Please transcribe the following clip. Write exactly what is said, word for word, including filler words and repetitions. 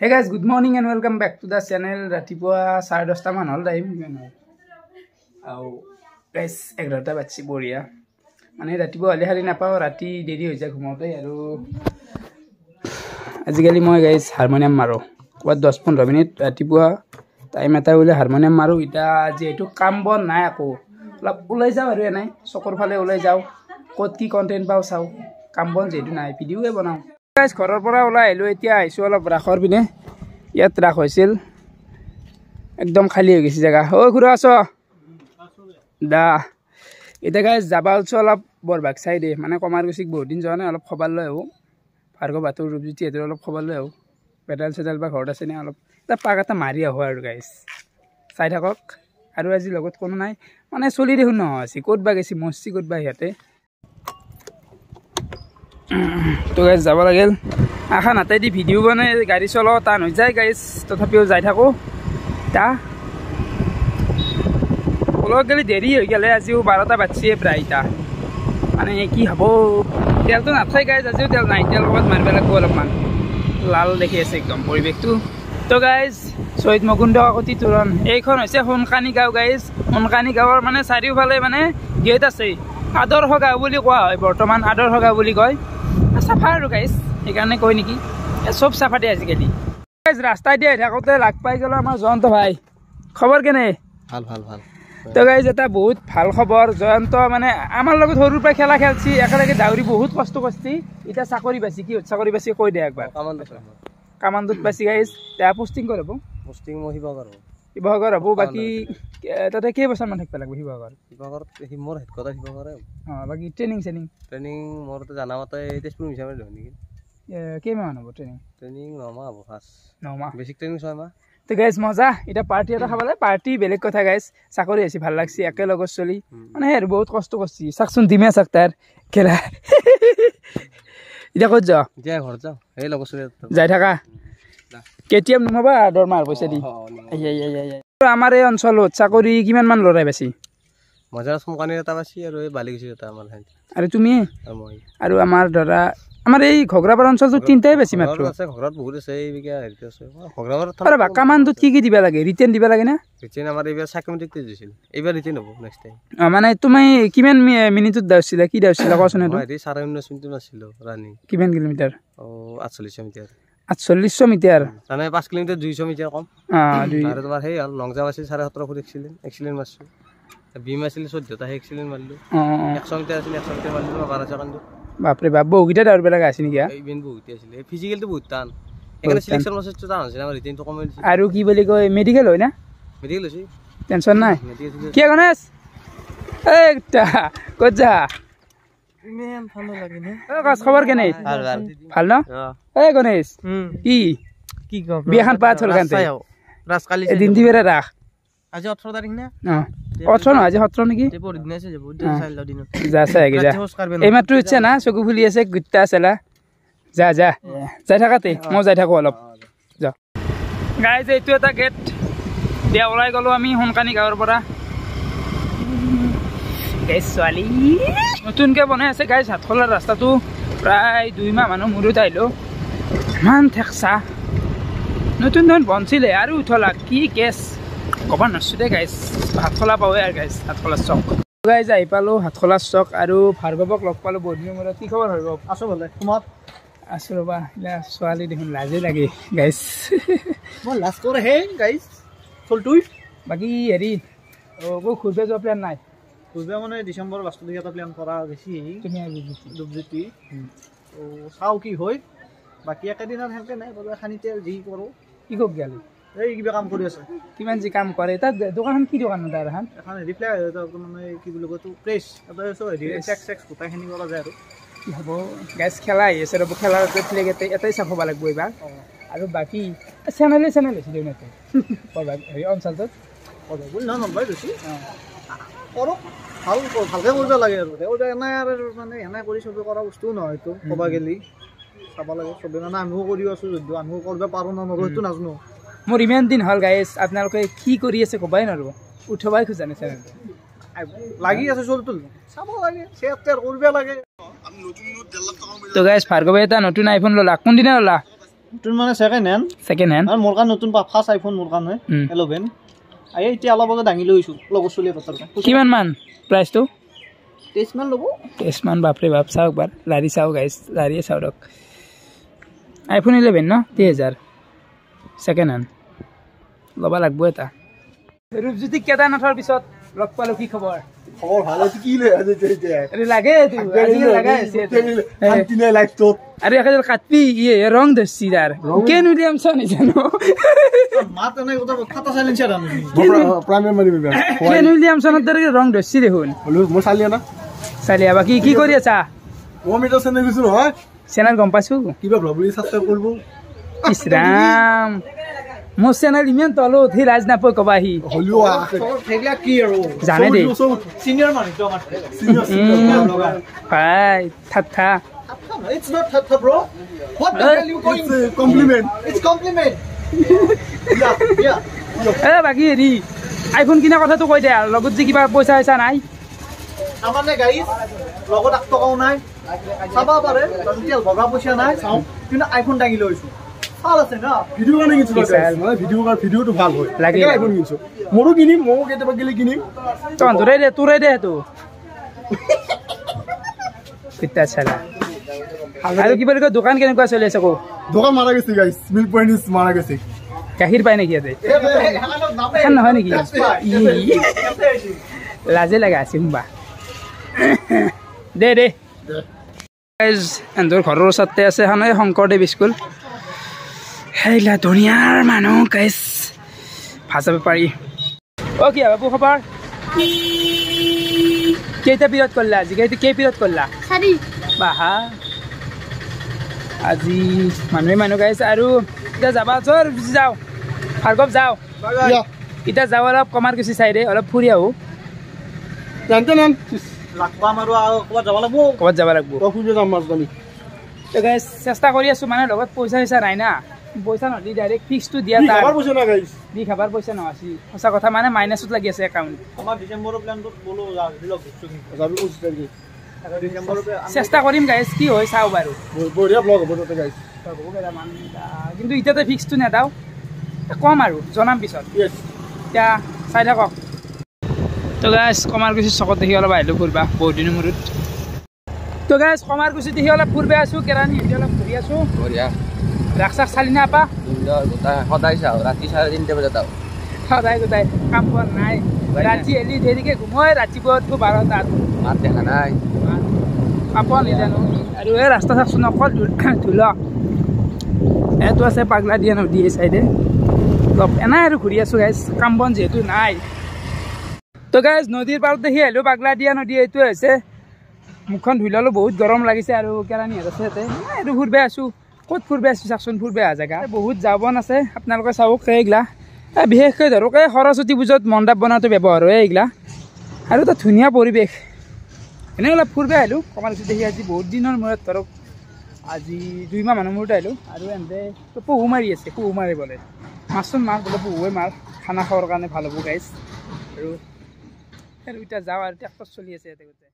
Hey guys, good morning and welcome back to the channel. ৰাতিপুৱা চাৰে দহটামান হ'ল টাইম কিমান হ'ল আৰু গাইজ এঘাৰটা বাজছি বঢ়িয়া মানে ৰাতিপুৱা হ'লে শাৰী নাপাওঁ ৰাতি দেৰি হৈ যায় ঘুমাওঁতে আৰু আজিকালি মই গাইজ হাৰমনিয়াম মাৰোঁ ক'ৰবাত দহ পোন্ধৰ মিনিট ৰাতিপুৱা টাইম এটা বোলে হাৰমনিয়াম মাৰোঁ এতিয়া যিহেতু কাম বন নাই আকৌ অলপ ওলাই যাওঁ আৰু এনেই চকৰ ফালে ওলাই যাওঁ ক'ত কি কণ্টেণ্ট পাওঁ চাওঁ কাম বন যিহেতু নাই ভিডিঅ'য়ে বনাওঁ গাইজ ঘৰৰ পৰা ওলাই আহিলোঁ এতিয়া আহিছোঁ অলপ ৰাসৰ পিনে ইয়াত ৰাস হৈছিল একদম খালী হৈ গৈছে জেগা ঐ খুৰা আছ দা এতিয়া গাইজ যাবা ওলছোঁ অলপ বৰভাগ চাইডে মানে কমাৰকুছিক বহুত দিন যোৱা নাই অলপ খবৰ লৈ আহোঁ ভাৰ্গৱ বাটৰ ৰূপজ্যোতি সিহঁতৰ অলপ খবৰ লৈ আহোঁ পেডেল চেডেল বা ঘৰত আছেনে অলপ এটা পাক এটা মাৰি আহোঁ আৰু গাইজ চাই থাকক আৰু আজি লগত কোনো নাই মানে চলি দেখোন নহয় আছে ক'ত বা গেছি মৰছি ক'ত বা সিহঁতে তো গাইজ যাব লাগিল আশা নাতেদি ভিডিঅ' বনাই গাড়ী চলোৱা টান হৈ যায় গাইজ তথাপিও যাই থাকোঁ তা ওলাব গ'লে দেৰি হৈ গ'লে আজিও বাৰটা বাজছিয়ে প্ৰায় এতিয়া মানে কি হ'ব তেলটো নাথাই গাইজ আজিও তেল নাই তেল ক'ৰবাত মাৰিব লাগিব অলপমান লাল দেখি আছে একদম পৰিৱেশটো তো গাইজ শ্বহীদ মুকুন্দ কাকতি তোৰণ এইখন হৈছে সোণকানি গাঁও গাইজ সোণকানি গাঁৱৰ মানে চাৰিওফালে মানে গেট আছে আদৰ্শ গাঁও বুলি কোৱা হয় বৰ্তমান আদৰ্শ গাঁও বুলি কয় চাফা আৰু গাইজ সেইকাৰণে কয় নেকি চব চাফা দিয়ে আজিকালি গাইজ ৰাস্তাই দি আহি থাকোঁতে লাগ পাই গ'লো আমাৰ জয়ন্ত ভাই খবৰ কেনে ভাল ভাল ভাল তো গাইজ এটা বহুত ভাল খবৰ জয়ন্ত মানে আমাৰ লগত সৰুৰ পৰা খেলা খেলছি একেলগে দাউৰি বহুত কষ্ট কৰিছি এতিয়া চাকৰি পাইছি কি চাকৰি পাইছি কৈ দে একবাৰ কামাণ্ডত পাইছি গাইজ এতিয়া পষ্টিং ক'ত হ'ব পষ্টিং মই শিৱসাগৰ হ'ব শিৱসাগৰ হ'ব বাকী তাতে কেইবছৰমান থাকিব লাগিব শিৱসাগৰ শিৱসাগৰত মোৰ হেডকোৱাৰ্টাৰ শিৱসাগৰে অঁ বাকী ট্ৰেইনিং চেনিং ট্ৰেইনিং মোৰ জানা মতে তেজপুৰ মিছামাৰীত হয় নেকি কেইমাহমান হ'ব ট্ৰেইনিং ট্ৰেইনিং নমাহ হ'ব ফাৰ্ষ্ট নমাহ বেছিক ট্ৰেইনিং ছয় মাহ তো গাইজ মজা এতিয়া পাৰ্টি এটা খাব লাগে পাৰ্টি বেলেগ কথা গাইজ চাকৰি হৈছে ভাল লাগছি একেলগত চলি মানে সেই আৰু বহুত কষ্ট কৰিছি চাকচোন দিমে চাক তাৰ খেলা এতিয়া ক'ত যাওঁ এতিয়া ঘৰত যাওঁ এই লগৰ চলি যাই থাকা কেতিয়াম নুমাবা দৰমহাৰ পইচা দি আমাৰ এই অঞ্চলত চাকৰি কিমান মান ল'ৰাই পাইছি মজাৰ সোমকানিৰ এটা পাইছি আৰু এই বালিকুছিৰ এটা আমাৰ আৰু তুমি আৰু আমাৰ ধৰা আমাৰ এই ঘগ্ৰাপাৰ অঞ্চলটোত তিনিটাই বেছি মাত্ৰ আছে ঘৰত বহুত আছে এই হেৰিত আছে ঘগ্ৰাপাৰত আৰে বা কামাণ্ডত কি কি দিবা লাগে ৰিটেন দিবা লাগে না ৰিটেন আমাৰ এইবাৰ চাইকোমেট্ৰিক টেষ্ট দিছিল এইবাৰ ৰিটেন হ'ব নেক্সট টাইম অঁ মানে তুমি কিমান মিনিটত দাউছিলা কি দাউছিলা কোৱাচোন এইটো হেৰি চাৰে ঊনৈছ মিনিটত আছিলোঁ ৰানিং কিমান কিলোমিটাৰ অঁ আঠচল্লিছশ মিটাৰ আঠচল্লিছশ মিটাৰ মানে পাঁচ কিলোমিটাৰ দুইশ মিটাৰ কম অঁ দুই আৰু তোমাৰ সেই হ'ল লং জাম্প আছিল চাৰে সোতৰ ফুট এক্সিলেণ্ট এক্সিলেণ্ট মাৰিছোঁ বিম আছিল চৈধ্যটা সেই এক্সিলেণ্ট মাৰিলোঁ এশ মিটাৰ আছিল এশ মিটাৰ মাৰিলোঁ বাৰ ছেকেণ্ডত বাপৰে বাপ বহুকেইটা দৌৰিব লগা আছে নেকি ইভেণ্ট বহুতে আছিলে ফিজিকেলটো বহুত টান সেইকাৰণে চিলেকশ্যন প্ৰচেছটো টান হৈছিল আমাৰ ৰিটেনটো কমাই দিছিল আৰু কি বুলি কয় মেডিকেল হয় না মেডিকেল হৈছে টেনশ্যন নাই কি গণেশ এই ক'ত যা খবৰ কেনে ভাল ন এই গণেশ কি কি কম বিয়াখন পাত হ'ল কান্তে এদিন দিবে ৰাস আজি ওঠৰ তাৰিখ না অঁ ওঠৰ নহয় আজি সোতৰ নেকি যা চাই আগে যা এইমাত্ৰ ইচ্ছা না চকু ফুলি আছে গুট্টা চেলা যা যা যাই থাকাতে মই যাই থাকোঁ অলপ যা গাইজ এইটো এটা গেট দিয়া ওলাই গ'লোঁ আমি সোণকানি গাঁৱৰ পৰা গাইজ ছোৱালী নতুনকৈ বনাই আছে গাইজ হাতখোলাৰ ৰাস্তাটো প্ৰায় দুই মাহ মানৰ মূৰত আহিলোঁ ইমান ঠেকচা নতুন নতুন বনছিলে আৰু উঠলা কি কেছ ক'ব নোৱাৰিছোঁ দেই গাইজ হাতখোলা পাওঁৱে আৰু গাইজ হাতখোলাৰ চক গাইজ আহি পালোঁ হাতখোলাৰ চক আৰু ভাৰ্গৱক লগ পালোঁ বহুত দিনৰ মূৰত কি খবৰ ভাৰ্গৱ আছোঁ ভালে তোমাৰ আছোঁ ৰ'বা এতিয়া ছোৱালী দেখোন লাজেই লাগে গাইজ মই লাজ কৰেহে গাইজ চলটোই বাকী হেৰি অঁ ঘূৰিব যোৱা প্লেন নাই ঘূৰিব মানে ডিচেম্বৰ লাষ্টৰ দিকে এটা প্লেন কৰা গৈছি তুমি ৰূপজ্যোতি তো চাওঁ কি হয় বাকী একেদিনত সেনেকৈ নাই বাৰু এখানিতে যি কৰোঁ কি কক গেলি এই কিবা কাম কৰি আছে কিমান যি কাম কৰে তাত দোকানখন কি দোকান তাৰ এখন এখন হেৰি ফ্লাই মানে কি বুলি কয় প্ৰেছ এটা হেৰি চেক চেক গোটাইখিনি কৰা যায় আৰু কি হ'ব গাইজ খেলা আহি আছে ৰ'ব খেলাৰ ফ্লেগ এটাই এটাই চাফ হ'ব লাগিব এইবাৰ আৰু বাকী চেনেলে চেনেল হৈছে দেখোন ইয়াতে হেৰি অঞ্চলটোত বুলি নহয় নলবাৰীত হৈছে কৰক ভাল ভালকৈ কৰিব লাগে আৰু এনে আৰু মানে এনে কৰি চবে কৰা বস্তুও নহয় এইটো ক'ব গ'লে চাব লাগে চবে মানে আমিও কৰি আছোঁ যদিও আমিও কৰিব পাৰোঁ না নোৱাৰোঁ সেইটো নাজানো মোৰ ইমান দিন হ'ল গাইজ আপোনালোকে কি কৰি আছে ক'বাই নোৱাৰোঁ উঠবাই খোজা নাই চেনেলটো লাগি আছে চলটো চাব লাগে শ্বেয়াৰ টেয়াৰ কৰিব লাগে তো গাইজ ভাৰ্গৱে এটা নতুন আইফোন ল'লা কোনদিনা ল'লা নতুন মানে ছেকেণ্ড হেণ্ড। ছেকেণ্ড হেণ্ড আৰু মোৰ কাৰণে নতুন ফাৰ্ষ্ট আইফোন মোৰ কাৰণে ইলেভেন। এই এতিয়া অলপ আগত দাঙি লৈ আহিছোঁ লগৰ চলি এটাৰ। কিমান মান প্ৰাইচটো? তেইছ মান ল'ব। তেইছ মান, বাপৰে বাপ। চাওক বাৰ লাৰি চাওক গাইজ, লাৰিয়ে চাওক ৰক। আইফোন ইলেভেন ন, তেইছ হাজাৰ ছেকেণ্ড হেণ্ড ল'ব লাগব এটা। ৰূপজ্যোতিক কেদাৰনাথৰ পিছত লগ পালোঁ, কি খবৰ? খবৰ ভাল। কি লাগে আৰু একেবাৰে কাটবি ইয়ে ৰং ধৰছি তাৰ কেন উইলিয়ামছন জানো কেন উইলিয়ামছনৰ দৰে ৰং ধৰছি দেখোন। চালিয়া বাকী কি কৰি আছা? চেনেল গম পাইছো ইছ ৰাম, মোৰ চেনেল ইমান তলত সি লাজ নাপায় কবা সি জানে দেই ভাই। ঠাট্টা It's not thattha bro. What the hell you going? It's a compliment. It's compliment. Yeah, yeah. এ বাকি হেৰি আইফোন কিনা কথাটো কৈ দে, লগত যে কিবা পইচা চইচা নাই। তাৰমানে গাইজ লগত এক টকাও নাই, চাব পাৰে তেল ভৰা পইচা নাই, কিন্তু আইফোন দাঙি লৈছো। ভাল আছে না ভিডিঅ' কাৰণে কিনিছো মানে ভিডিঅ' কাৰণে ভিডিঅ'টো ভাল হয় লাগে আইফোন কিনিছো। মোৰো কিনিম, ময়ো কেতিয়াবা গেলে কিনিম। তহঁতৰে দে, তোৰে দে সেইটো পিতা চালা। আৰু কিবা কয় দোকান কেনেকুৱা চলি আছে? কো দোকান মাৰা গৈছে গাইজ, মিল্ক পইণ্ট is মাৰা গৈছে। গাখীৰ পায় নেকি ইয়াতে? এখন নহয় নেকি? লাজে লাগা আছে সোমবা দে দে। এহঁতৰ ঘৰৰ ওচৰতে আছে এখন এই শংকৰদেৱ স্কুল। সেইলা ধুনীয়াৰ মানুহ গাইজ, ভাজাব পাৰি। অ কি বাবু খবৰ? কেইটা পিৰিয়ড কৰিলা আজি? কেই পিৰিয়ড কৰিলা? বাহা আজি মানুহে মানুহ গাইছে। আৰু এতিয়া যাবা যাওঁ ভাৰ্গৱ, যাওঁ এতিয়া যাওঁ অলপ কমাৰকুচি চাইডে অলপ ফুৰি আহোঁ। ক'ৰবাত যাব লাগিব চেষ্টা কৰি আছোঁ, মানে লগত পইচা চইচা নাই না, পইচা নহ'লে ডাইৰেক্ট ফিক্সটো দিয়া দি খাবাৰ পইচা নহয়। সঁচা কথা মানে মাইনাছত লাগি আছে একাউণ্ট। চেষ্টা কৰিম গাইজ, কি হয় চাওঁ বাৰু। কিন্তু এতিয়াতে ফিক্সটো নেদাওঁ, কম আৰু জনাম পিছত, এতিয়া চাই থাকক। তো গাইজ কমাৰকুচি চকত দেখি অলপ আহিলোঁ ফুৰবা বহুত দিনৰ মূৰত। তো গাইজ কমাৰকুচি দেখি অলপ ফুৰবা আছোঁ, কেৰাণী এতিয়া অলপ ঘূৰি আছোঁ। ৰাস চাস চালি না আপা? সদায় চাওঁ, ৰাতি চাৰে তিনিটা বজাত আহোঁ। সদায় গোটাই কাম পোৱা নাই, ৰাতি এলি দেৰিকে ঘুমোই, ৰাতিপুৱা উঠো বাৰটাত। মাত দেখা নাই, কাপোৰ নিজানো। আৰু এই ৰাস্তা চাওকচোন অকল ধূল। এইটো আছে পাগলা দিয়া নদী এই চাইডে। অলপ এনাই আৰু ঘূৰি আছোঁ গাইজ, কাম বন যিহেতু নাই। তো গাইজ নদীৰ পাৰত দেখি আহিলোঁ, পাগলা দিয়া নদী এইটোৱে হৈছে। মুখখন ধুই ল'লোঁ, বহুত গৰম লাগিছে। আৰু কেৰাণীহঁত আছে ইয়াতে, আৰু ফুৰবে আছোঁ। ক'ত ফুৰবে আছোঁ চাওকচোন, ফুৰবে অহা জেগা বহুত জাবন আছে, আপোনালোকে চাওক এইগিলা। বিশেষকৈ ধৰক এই সৰস্বতী পূজাত মণ্ডপ বনাওঁতে ব্যৱহাৰ হয় এইগিলা। আৰু এটা ধুনীয়া পৰিৱেশ, এনেই অলপ ফুৰবে আহিলোঁ কমাৰকুচি দেখি আজি বহুত দিনৰ মূৰত, ধৰক আজি দুই মাহ মানৰ মূৰত আহিলোঁ। আৰু এহেঁতে পহু মাৰি আছে, পহু মাৰিবলৈ মাছচোন মাৰ বোলে, পহুৱে মাৰ, খানা খাবৰ কাৰণে ভাল হ'ব গাইজ। আৰু আৰু এতিয়া যাওঁ আৰু ট্ৰেক্টৰ চলি আছে ইয়াতে গোটেই।